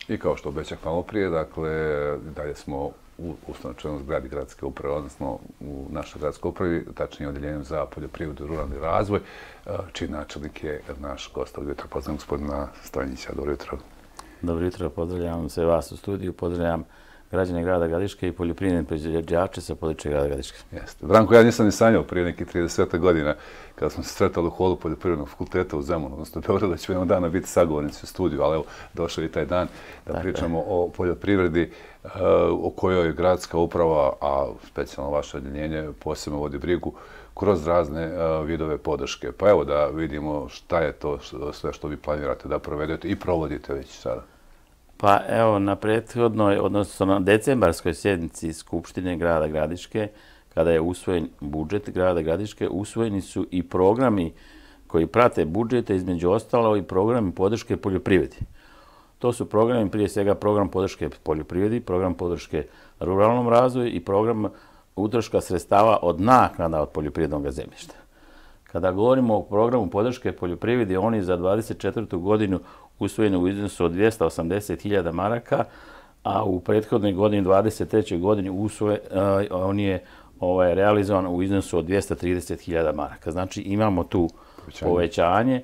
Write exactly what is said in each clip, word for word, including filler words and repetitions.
I kao što obećah malo prije, dakle, dalje smo u ustanočenom zgradi gradske uprave, odnosno u našoj gradskoj upravi, tačnije odjeljenju za poljoprivredu i ruralni razvoj, čiji načelnik je naš gost. Dobro jutro, pozdravljam gospodina Stojnića. Dobro jutro. Dobro jutro, pozdravljam sve vas u studiju, pozdravljam građane grada Gradiške i poljoprivredne proizvođače sa područja grada Gradiške. Jeste. Branko, ja nisam ni sanjao prije nekih trideset godina kada smo se sretali u holu poljoprivrednog fakulteta u Zemunu, odnosno u Beogradu, da će jednog dana biti sagovornici u studiju, ali evo, došao je taj dan da pričamo o poljoprivredi o kojoj gradska uprava, a specijalno vaše odjeljenje, posebno vodi brigu kroz razne vidove podrške. Pa evo da vidimo šta je to sve što vi planirate da provedete i provodite već sada. Pa evo, na prethodnoj, odnosno na decembarskoj sjednici Skupštine grada Gradiške, kada je usvojen budžet grada Gradiške, usvojeni su i programi koji prate budžete, između ostalo i programi podrške poljoprivredi. To su programi, prije svega program podrške poljoprivredi, program podrške ruralnom razvoju i program utroška sredstava od naknada od poljoprivrednog zemljišta. Kada govorimo o programu podrške poljoprivredi, on je za dvadeset četvrtu godinu usvojen u iznosu od dvjesto osamdeset hiljada maraka, a u prethodnoj godini, dvadeset trećoj godini, usvojen, on je ovaj, realizovan u iznosu od dvjesto trideset hiljada maraka. Znači imamo tu povećanje, povećanje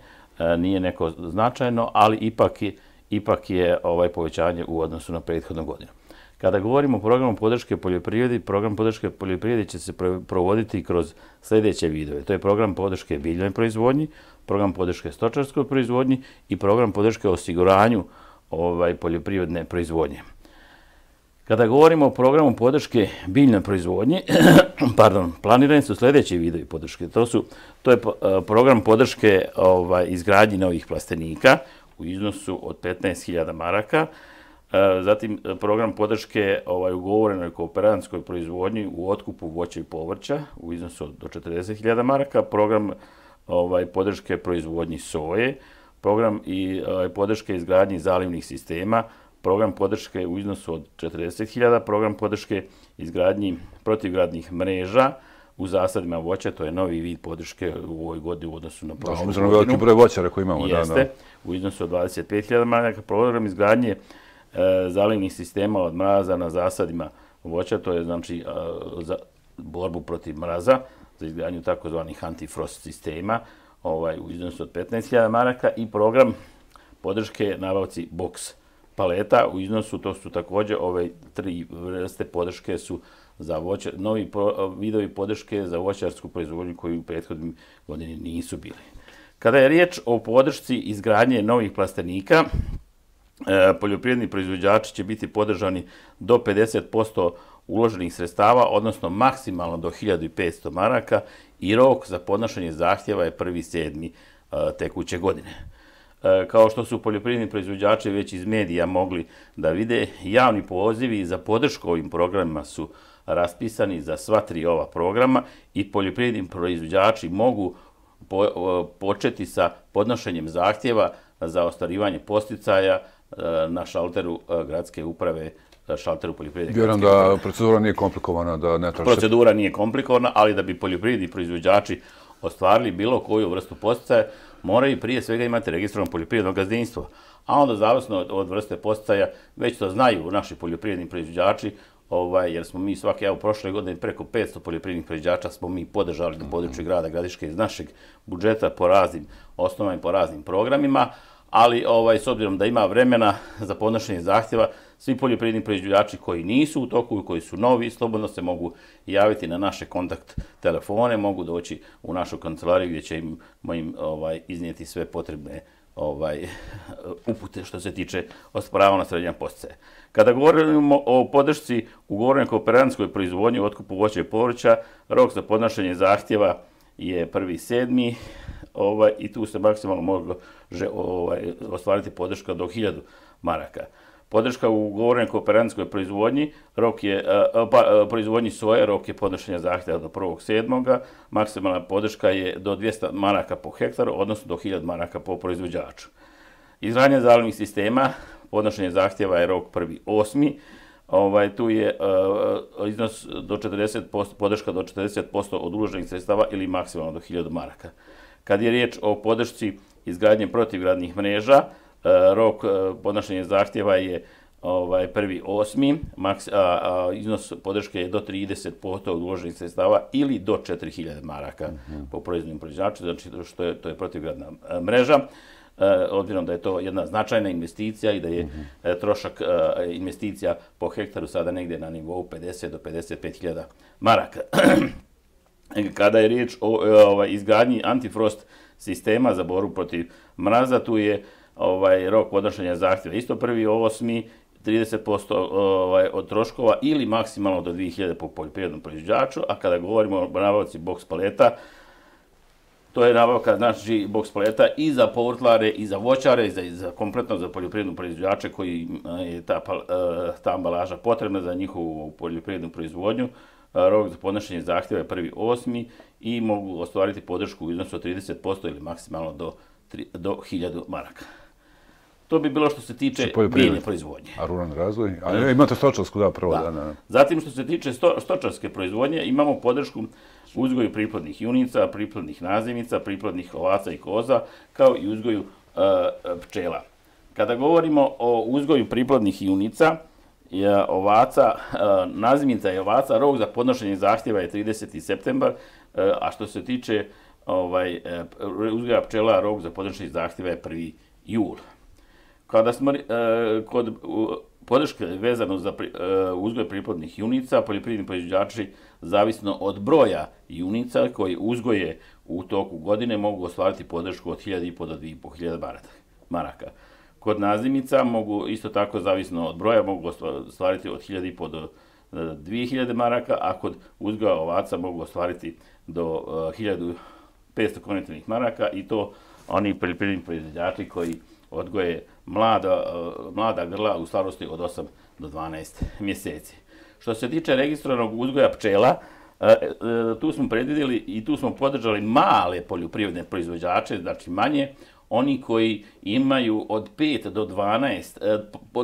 nije neko značajno, ali ipak je, ipak je ovaj povećanje u odnosu na prethodnu godinu. Kada govorimo o programu podrške poljoprivredi, program podrške poljoprivredi će se provoditi kroz sljedeće vidove. To je program podrške biljnoj proizvodnji, program podrške stočarskoj proizvodnji i program podrške osiguranju ovaj, poljoprivredne proizvodnje. Kada govorimo o programu podrške biljnoj proizvodnji, pardon, planirani su sljedeći vidovi podrške. To, su, to je program podrške ovaj, izgradnji novih plastenika u iznosu od petnaest hiljada maraka, zatim program podrške ovaj, ugovorenoj kooperantskoj proizvodnji u otkupu voća i povrća u iznosu do četrdeset hiljada maraka, program ovaj, podrške proizvodnji soje, program i ovaj, podrške izgradnji zalivnih sistema, program podrške u iznosu od četrdeset hiljada, program podrške izgradnji protivgradnih mreža u zasadima voća, to je novi vid podrške u ovoj godini u odnosu na prošlu godinu. Da, veliki broj voćara koji imamo. Jeste, da, da. U iznosu od dvadeset pet hiljada maraka, program izgradnje zalivnih sistema od mraza na zasadima voća, to je znači za borbu protiv mraza, za izgradnju takozvanih antifrost sistema ovaj, u iznosu od petnaest hiljada maraka i program podrške nabavci boks paleta u iznosu, to su također ove tri vrste podrške su za voća, novi pro, vidovi podrške za voćarsku proizvodnju koji u prethodnim godini nisu bili. Kada je riječ o podršci izgradnje novih plastenika, poljoprivredni proizvođači će biti podržani do pedeset posto uloženih sredstava, odnosno maksimalno do hiljadu petsto maraka i rok za podnošenje zahtjeva je prvi sedmi tekuće godine. Kao što su poljoprivredni proizvođači već iz medija mogli da vide, javni pozivi za podršku ovim programima su raspisani za sva tri ova programa i poljoprivredni proizvođači mogu po, početi sa podnošenjem zahtjeva za ostvarivanje posticaja na šalteru gradske uprave, šalteru poljoprivredne gradske uprave. Vjerujem da procedura nije komplikovana, da ne traži... Procedura nije komplikovana, ali da bi poljoprivredni proizvođači ostvarili bilo koju vrstu posticaja, moraju prije svega imati registrovano poljoprivredno gazdinstvo. A onda, zavisno od vrste posticaja, već to znaju naši poljoprivredni proizvođači, ovaj, jer smo mi svake, evo, prošle godine preko petsto poljoprivrednih proizvođača smo mi podržali na području grada Gradiške iz našeg budžeta po raznim osnovama i po raznim programima, ali ovaj, s obzirom da ima vremena za podnošenje zahtjeva, svi poljoprivredni proizvođači koji nisu u toku i koji su novi, slobodno se mogu javiti na naše kontakt telefone, mogu doći u našu kancelariju gdje ćemo im ovaj, iznijeti sve potrebne ovaj, upute što se tiče osporavanja srednja posticaja. Kada govorimo o podršci ugovorenoj kooperantskoj proizvodnji u otkupu voća i povrća, rok za podnošenje zahtjeva je prvi sedmi ovaj, i tu se maksimalno može ovaj, ostvariti podrška do hiljadu maraka. Podrška u ugovorenoj kooperantskoj proizvodnji, rok je, pa, proizvodnji soje, rok je podnošenja zahtjeva do prvog sedmoga Maksimalna podrška je do dvjesto maraka po hektaru, odnosno do hiljadu maraka po proizvođaču. Izgradnja zalivnih sistema, podnošenje zahtjeva je rok prvi osmi Ovaj, tu je uh, iznos do četrdeset posto, podrška do četrdeset posto od uloženih sredstava ili maksimalno do hiljadu maraka. Kad je riječ o podršci izgradnje protivgradnih mreža, rok podnošenja zahtjeva je ovaj, prvi osmi, maks, a, a, iznos podrške je do trideset posto od uloženih sredstava ili do četiri hiljade maraka mm-hmm. po proizvodnim proizvođaču, znači što je, to je protivgradna mreža. Obzirom da je to jedna značajna investicija i da je mm-hmm. trošak investicija po hektaru sada negdje na nivou pedeset do pedeset pet hiljada maraka. Kada je riječ o ovaj, izgradnji antifrost sistema za borbu protiv mraza, tu je ovaj, rok podnošenja zahtjeva isto prvi osmi, trideset posto ovaj, od troškova ili maksimalno do dvije hiljade po poljoprivrednom proizvođaču, a kada govorimo o nabavci boks paleta, to je nabavka znači boks paleta i za povrtlare, i za voćare, i za, i za kompletno za poljoprivredne proizvođače koji je ta, ta ambalaža potrebna za njihovu poljoprivrednu proizvodnju. Rok za podnošenje zahtjeva je prvi osmi i mogu ostvariti podršku u iznosu od trideset posto ili maksimalno do, do hiljadu maraka. To bi bilo što se tiče biljne proizvodnje. A ruralni razvoj? A imate stočarsku, da, prvo. Da. Da, da. Zatim što se tiče sto, stočarske proizvodnje, imamo podršku uzgoju priplodnih junica, priplodnih nazimica, priplodnih ovaca i koza, kao i uzgoju e, pčela. Kada govorimo o uzgoju priplodnih junica, je ovaca, e, nazimica i ovaca, rok za podnošenje zahtjeva je trideseti septembar, e, a što se tiče ovaj, e, uzgoja pčela, rok za podnošenje zahtjeva je prvi jul. Kada smo e, kod u, podrške vezano za pri, e, uzgoj priplodnih junica, poljoprivredni proizvođači zavisno od broja junica koji uzgoje u toku godine mogu ostvariti podršku od hiljadu i po do dvije i po hiljade maraka. Kod nazimica mogu isto tako zavisno od broja mogu ostvariti od hiljadu i po do dvije hiljade maraka, a kod uzgoja ovaca mogu ostvariti do e, hiljadu petsto konvertibilnih maraka i to oni poljoprivredni proizvođači koji odgoje mlada, mlada grla u starosti od osam do dvanaest mjeseci. Što se tiče registrovanog uzgoja pčela, tu smo predvidjeli i tu smo podržali male poljoprivredne proizvođače, znači manje, oni koji imaju od pet do dvanaest,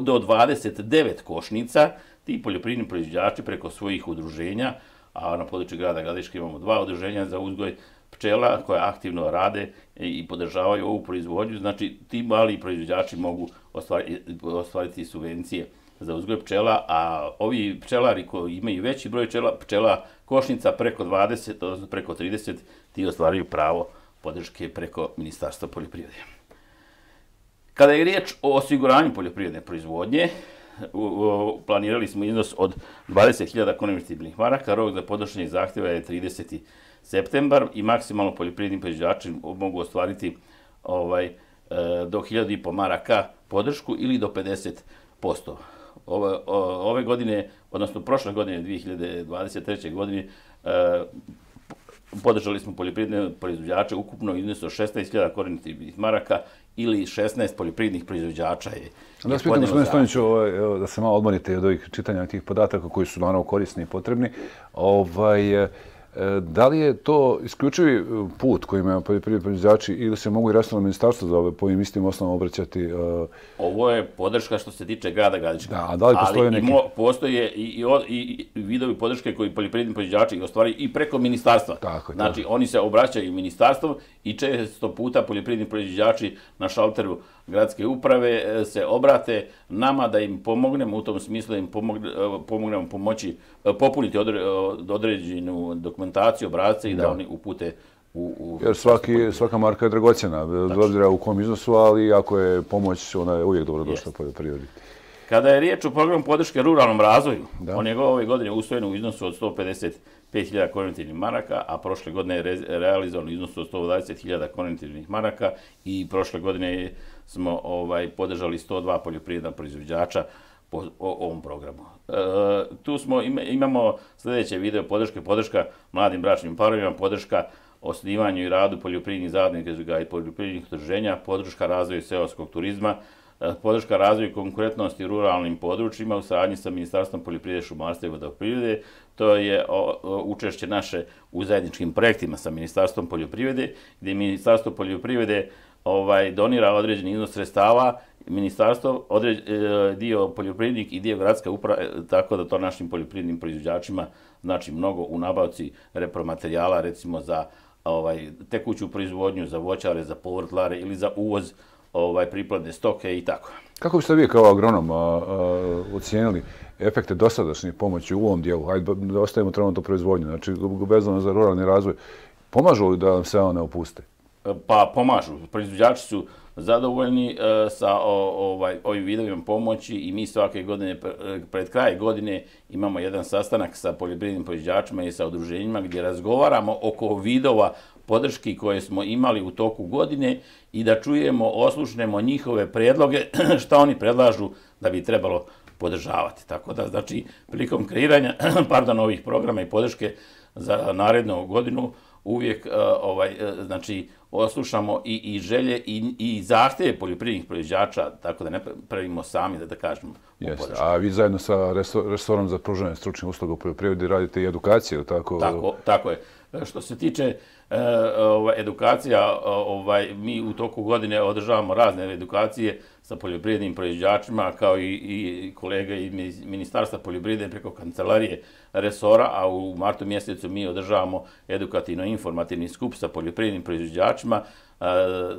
do dvadeset devet košnica, ti poljoprivredni proizvođači preko svojih udruženja, a na području grada Gradiške imamo dva udruženja za uzgoj pčela koja aktivno rade i podržavaju ovu proizvodnju, znači ti mali proizvođači mogu ostvariti, ostvariti subvencije za uzgoj pčela, a ovi pčelari koji imaju veći broj pčela, pčela košnica preko dvadeset, odnosno preko trideset, ti ostvaraju pravo podrške preko Ministarstva poljoprivrede. Kada je riječ o osiguranju poljoprivredne proizvodnje, planirali smo iznos od dvadeset hiljada konvertibilnih maraka, rok za podnošenje zahtjeva je trideseti septembar i maksimalno poljoprivredni proizvođači mogu ostvariti ovaj, do hiljadu i po maraka podršku ili do pedeset posto. Ove, ove godine, odnosno prošle godine, dvije hiljade dvadeset treće. godine, podržali smo poljoprivredne proizvođače ukupno iznosu šesnaest hiljada konvertibilnih maraka ili šesnaest poljoprivrednih proizvođača je. Da vas pitam, gospodine Stoniću, da se malo odmorite od ovih čitanja tih podataka koji su naravno korisni i potrebni. Ovaj, da li je to isključivi put koji imaju poljoprivredni proizvođači ili se mogu i resorno ministarstvo za ove po ovim istim osnovama obraćati? Uh... Ovo je podrška što se tiče grada Gradiške. Da, a da li postoje neki? Ali postoje i, i, i, i vidovi podrške koji poljoprivredni proizvođači ostvari i preko ministarstva. Tako, znači, tako. Oni se obraćaju ministarstvom i često puta poljoprivredni proizvođači na šalteru gradske uprave se obrate nama da im pomognemo u tom smislu, da im pomogne, pomognemo pomoći popuniti odre, određenu dokumentaciju, obrazce i da, da oni upute u... u Jer svaki, svaka marka je dragocjena, bez obzira u kom iznosu, ali ako je pomoć, ona je uvijek dobro došla poljoprivredi. Kada je riječ o programu podrške ruralnom razvoju, da. On je ove godine usvojen u iznosu od sto pedeset pet hiljada konvertibilnih maraka, a prošle godine je re, realizovan u iznosu od sto dvadeset hiljada konvertibilnih maraka i prošle godine smo ovaj, podržali sto dva poljoprivredna proizvođača po o, ovom programu. E, tu smo, im, imamo sljedeće video podrške, podrška mladim bračnim parovima, podrška osnivanju i radu poljoprivrednih zadruga i poljoprivrednih udruženja, podrška razvoju seoskog turizma, podrška razvoju konkurentnosti u ruralnim područjima u saradnji sa Ministarstvom poljoprivrede, šumarstva i vodoprivrede. To je o, o, učešće naše u zajedničkim projektima sa Ministarstvom poljoprivrede, gdje Ministarstvo poljoprivrede ovaj, donira određeni iznos sredstava, Ministarstvo određ, dio poljoprivrednik i dio gradska uprava, tako da to našim poljoprivrednim proizvođačima znači mnogo u nabavci repromaterijala, recimo za ovaj, tekuću proizvodnju, za voćare, za povrtlare ili za uvoz ovaj, priplodne stoke i tako. Kako biste vi kao agronom a, a, ocijenili efekte dosadašnje pomoći u ovom dijelu? Hajde, da ostavimo trenutno proizvodnju, znači vezano za ruralni razvoj. Pomažu li da nam se one opuste? Pa pomažu. Proizvođači su zadovoljni e, sa o, ovaj, ovim vidovima pomoći i mi svake godine, pred kraj godine, imamo jedan sastanak sa poljoprivrednim proizvođačima i sa udruženjima gdje razgovaramo oko vidova podrški koje smo imali u toku godine i da čujemo, oslušnemo njihove predloge, šta oni predlažu da bi trebalo podržavati. Tako da, znači, prilikom kreiranja pardon, ovih programa i podrške za narednu godinu, uvijek uh, ovaj, uh, znači, oslušamo i, i želje i, i zahtjeve poljoprivrednih proizvođača, tako da ne pravimo sami, da, da kažemo. Jeste. A vi zajedno sa resorom za pružanje stručnih usluga u poljoprivredi radite i edukaciju, tako? Tako, tako je. Što se tiče uh, ovaj, edukacija, ovaj, mi u toku godine održavamo razne edukacije sa poljoprivrednim proizvođačima, kao i, i kolega iz Ministarstva poljoprivrede preko kancelarije resora, a u martu mjesecu mi održavamo edukativno-informativni skup sa poljoprivrednim proizvođačima uh,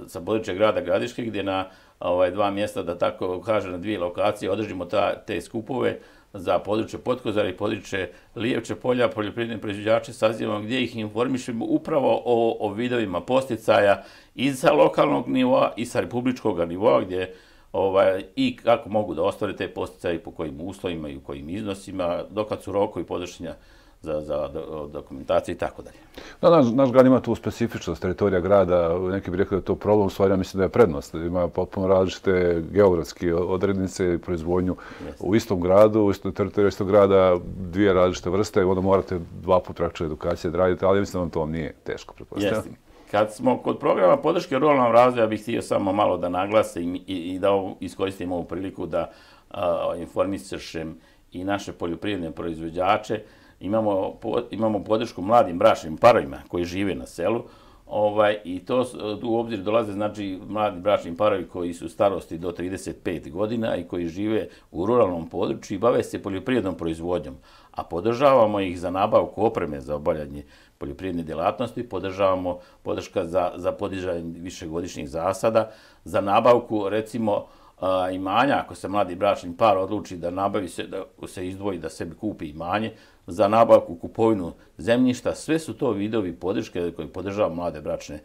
sa područja grada Gradiške, gdje na ovaj, dva mjesta, da tako kažem, na dvije lokacije održimo ta, te skupove za područje Potkozara i područje Lijevče polja, poljoprivredne proizvođače sazivamo gdje ih informišemo upravo o, o vidovima posticaja i sa lokalnog nivoa i sa republičkog nivoa, gdje ovaj, i kako mogu da ostvare te posticaje, po kojim uslovima i u kojim iznosima, dokad su rokovi podnošenja za, za dokumentaciju i tako dalje. Da, naš, naš grad ima tu specifičnost teritorija grada, neki bi rekli da je to problem, u stvari ja mislim da je prednost. Ima potpuno različite geografske odrednice i proizvodnju yes. u istom gradu, u istom teritoriju istog grada, dvije različite vrste, onda morate dva put rakče edukacije da radite, ali ja mislim da vam to nije teško, pretpostavljam. Yes. Kad smo kod programa podrške ruralnom razvoju, ja bih htio samo malo da naglasi i, i da iskoristim ovu priliku da a, informišem i naše poljoprivredne proizvođače. Imamo, po, imamo podršku mladim bračnim parovima koji žive na selu, ovaj, i to tu u obzir dolaze, znači, mladi bračni parovi koji su starosti do trideset pet godina i koji žive u ruralnom području i bave se poljoprivrednom proizvodnjom, a podržavamo ih za nabavku opreme za obavljanje poljoprivredne djelatnosti, podržavamo podrška za, za podizanje višegodišnjih zasada, za nabavku, recimo, a, imanja, ako se mladi bračni par odluči da nabavi se, da se izdvoji, da sebi kupi imanje, za nabavku, kupovinu zemljišta, sve su to vidovi podrške koji podržava mlade bračne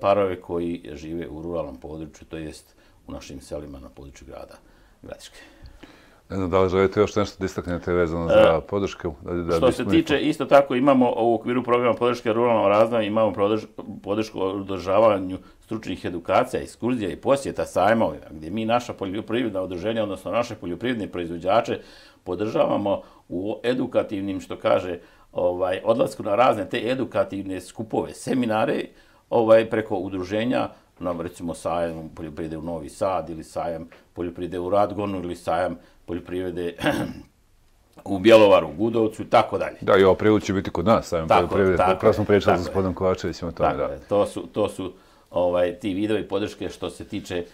parove koji žive u ruralnom području, to jest u našim selima na području grada Gradiške. Ne znam da li želite još nešto da istaknete vezano za podrške? Da, da što se tiče, isto tako imamo u okviru programa podrške ruralnom razvoju, imamo podršku o održavanju stručnih edukacija, ekskurzija i posjeta sajmovima, gdje mi naša poljoprivredna udruženja, odnosno naše poljoprivredne proizvođače, podržavamo u edukativnim, što kaže, ovaj, odlasku na razne te edukativne skupove, seminare, ovaj, preko udruženja, nam recimo sajam poljoprivrede u Novi Sad ili sajam poljoprivrede u Radgonu ili sajam poljoprivrede u Bjelovaru, u Gudovcu i tako dalje. Da, i ovo prevod će biti kod nas, sajam poljoprivrede. Upravo smo pričali sa gospodinom Kovačevićem o tome. Da. To su, to su ovaj, ti vidovi podrške što se tiče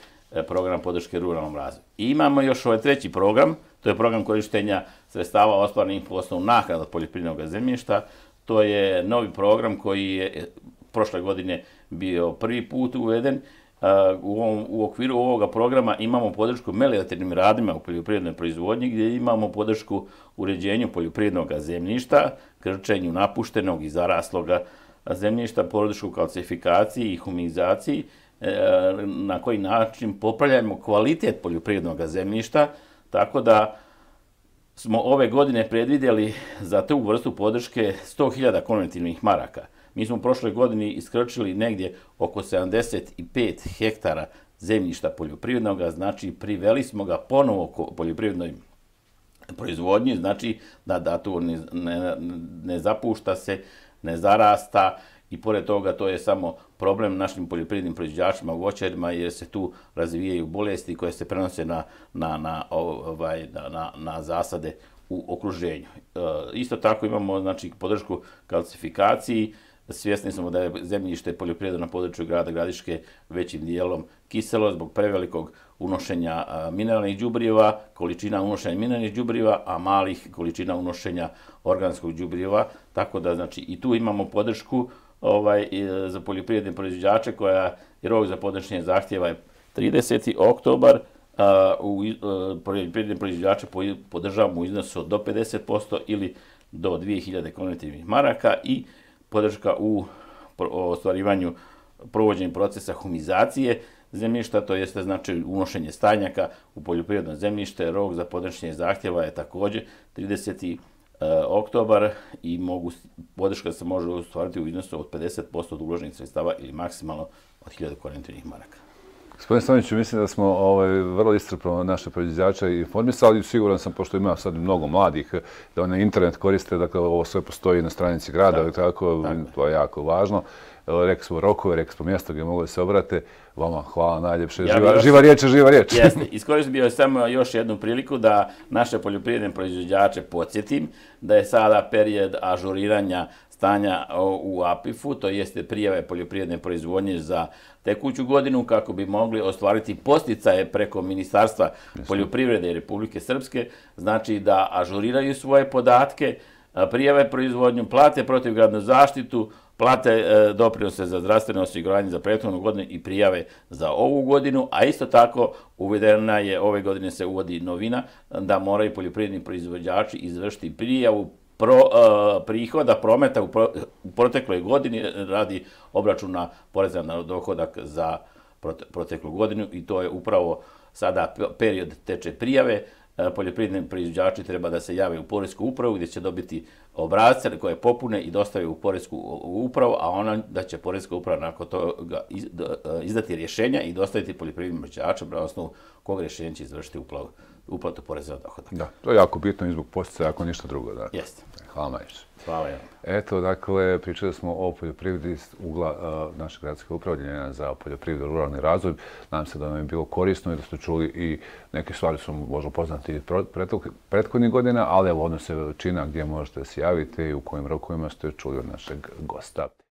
programa podrške ruralnom razvoju. I imamo još ovaj treći program, to je program korištenja sredstava ostvarenih po osnovu naknada poljoprivrednog zemljišta. To je novi program koji je prošle godine bio prvi put uveden. U, ovom, u okviru ovoga programa imamo podršku meliorativnim radima u poljoprivrednoj proizvodnji, gdje imamo podršku uređenju poljoprivrednog zemljišta, krčenju napuštenog i zarasloga zemljišta, podršku kalcifikaciji i humanizaciji, na koji način popravljamo kvalitet poljoprivrednog zemljišta, tako da smo ove godine predvidjeli za tu vrstu podrške sto hiljada konvertibilnih maraka. Mi smo u prošloj godini iskrčili negdje oko sedamdeset pet hektara zemljišta poljoprivrednog, znači priveli smo ga ponovo poljoprivrednoj proizvodnji, znači da, da tu ne, ne, ne zapušta se, ne zarasta, i pored toga to je samo problem našim poljoprivrednim proizvođačima, voćarima, jer se tu razvijaju bolesti koje se prenose na, na, na, ovaj, na, na zasade u okruženju. E, isto tako imamo, znači, podršku kalcifikaciji. Svjesni smo da je zemljište poljoprivredno na području grada Gradiške većim dijelom kiselo zbog prevelikog unošenja mineralnih đubriva, količina unošenja mineralnih đubriva, a malih količina unošenja organskog đubriva. Tako da, znači, i tu imamo podršku ovaj, za poljoprivredne proizvođače, koja je rok za podnošenje zahtjeva je trideseti oktobar poljoprivredne proizvođače podržavamo u iznosu do pedeset posto ili do dvije hiljade konvertibilnih maraka i podrška u ostvarivanju provođenja procesa humizacije zemljišta, to jeste znači unošenje stajnjaka u poljoprivredno zemljište. Rok za podnošenje zahtjeva je također trideseti oktobar i mogu, podrška se može ostvariti u iznosu od pedeset posto od uloženih sredstava ili maksimalno od hiljadu konvertibilnih maraka. Gospodine Stoniću, mislim da smo ovaj, vrlo iscrpno naše proizvođače informisali. Siguran sam, pošto ima sad mnogo mladih, da oni internet koriste, dakle ovo sve postoji na stranici grada, tako, tako, tako. To je jako važno. Rekli smo rokove, rekli smo mjesto gdje mogu da se obrate. Vama hvala najljepše. Ja živa, još, živa riječ je živa riječ. Jeste. Iskoristio bih samo još jednu priliku da naše poljoprivredne proizvođače podsjetim da je sada period ažuriranja stanja u A P I F-u, to jeste prijave poljoprivredne proizvodnje za tekuću godinu, kako bi mogli ostvariti posticaje preko Ministarstva poljoprivrede Republike Srpske, znači da ažuriraju svoje podatke, prijave proizvodnju, plate protivgradnu zaštitu, plate doprinose za zdravstveno osiguranje za prethodnu godinu i prijave za ovu godinu, a isto tako uvedena je, ove godine se uvodi novina, da moraju poljoprivredni proizvođači izvršiti prijavu Pro, uh, prihoda, prometa u, pro, u protekloj godini radi obračuna poreza na dohodak za prote, proteklu godinu i to je upravo sada period teče prijave. Uh, poljoprivredni proizvođači treba da se jave u poresku upravu gdje će dobiti obrasce koje popune i dostave u poresku upravu, a ona da će poreska uprava nakon toga iz, uh, izdati rješenja i dostaviti poljoprivrednim proizvođačima na osnovu kog rješenja će izvršiti uplavu. uplatu poreza na dohodak. Da, to je jako bitno i zbog posticaja, ako ništa drugo. Da. Jeste. Hvala najviše. Hvala ja. Eto, dakle, pričali smo o poljoprivredi iz ugla uh, naše gradske upravljanja za poljoprivredu i ruralni razvoj. Nadam se da vam je bilo korisno i da ste čuli i neke stvari su možda poznati prethodnih godina, ali evo odnose veličina gdje možete se javiti i u kojim rokovima ste čuli od našeg gosta.